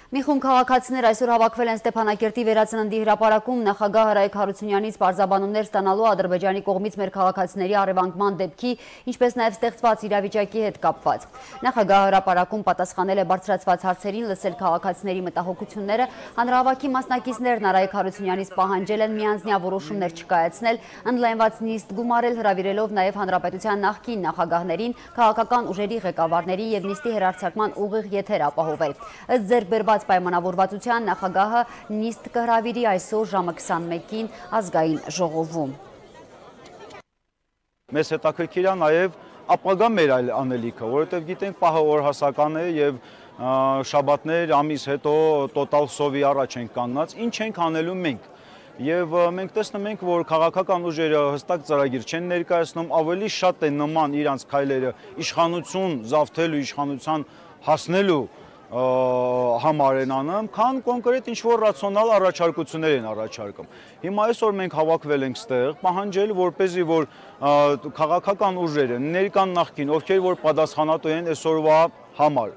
Մի խումբ քաղաքացիներ այսօր հավաքվել են Ստեփանակերտի վերածննդի հրապարակում նախագահ Հրայք Հարությունյանից պարզաբանումներ ստանալու Ադրբեջանի կողմից մեր քաղաքացիների առևանգման դեպքի, ինչպես նաև ստեղծված իրավիճակի հետ կապված։ Նախագահ հրապարակում պատասխանել է բարձրացված հարցերին, լսել քաղաքացիների մտահոգությունները, հանրահավաքի մասնակիցներն Հրայք Հարությունյանից պահանջել են միանձնյա որոշումներ չկայացնել, ընդլայնված նիստ գումարել, հրավիրելով նաև հանրապետության նախկին նախագահներին, քաղաքական ուժերի ղեկավարների և նիստի հեռարձակման ուղիղ եթեր ապահովել։ Ըստ ձեռք բերված պայմանավորվածության նախագահը նիստ կհրավիրի այսօր ժամը 21-ին ազգային ժողովում։ Մեզ հետաքրքիր է նաև ապագա մեր այլ անելիքը, որովհետև գիտենք պահը օրհասական է եւ շաբաթներ ամիս հետո տոտալ սովի առաջ ենք կանգնած, ինչ ենք անելու մենք։ Եվ մենք տեսնում ենք, որ քաղաքական ուժերը հստակ ծրագիր չեն ներկայացնում, ավելի շատ են նման իրանց քայլերը իշխանություն զավթելու, իշխանության հասնելու համար են անում, քան կոնկրետ ինչ-որ ռացիոնալ առաջարկություններ են առաջարկում։ Հիմա այսօր մենք հավաքվել ենք ստեղ, պահանջել, որպեսզի որ քաղաքական ուժերը, ներկան նախկին, ովքեր որ պատասխանատու են այսօրվա համար,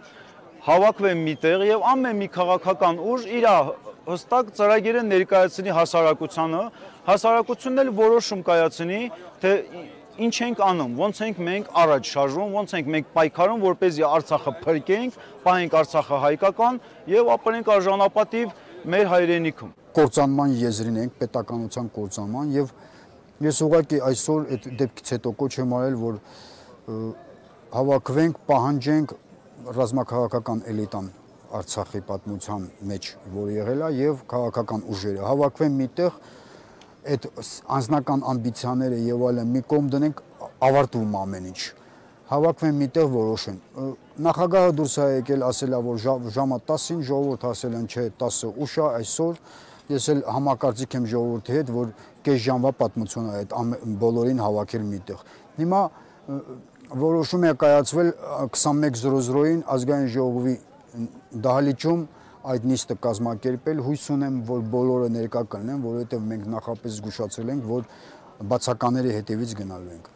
հավաքվեն միտեղ եւ ամեն մի քաղաքական ուժ իր հստակ ծրագիրը ներկայացնի հասարակությանը, հասարակությունն էլ որոշում կայացնի, թե ինչ ենք անում, ոնց ենք մենք առաջ շարժվում, ոնց ենք մենք պայքարում, որպեսզի Արցախը փրկենք, պահենք Արցախը հայկական եւ ապրենք արժանապատիվ մեր հայրենիքում։ Կործանման եզրին ենք, պետականության կործանման եւ ես ուղղակի այսօր այդ դեպքից հետո կոչ եմ արել, որ հավաքվենք, պահանջենք ռազմաքաղաքական էլիտան Արցախի պատմության մեջ, որ եղել է եւ քաղաքական ուժերը հավաքվեն միտեղ այդ անձնական ամբիցիաները եւ այլն մի կողմ դնենք, ավարտվում ամեն ինչ։ Հավաքվեն միտեղ որոշեն։ Նախագահը դուրս է եկել, ասել է, որ ժամը 10-ին ժողովուրդ ասել են, չէ, 10-ը ուշ է այսօր։ Ես էլ համակարծիք եմ ժողովրդի հետ, որ կես ժամվա պատմություն է այդ բոլորին հավաքել միտեղ։ Հիմա որոշում է կայացվել 21:00-ին ազգային ժողովի դահլիճում այդ նիստը կազմակերպել, հույս ունեմ, որ բոլորը ներկա կլինեն, որովհետև մենք նախապես զգուշացել ենք, որ բացակաների հետևից գնալու ենք։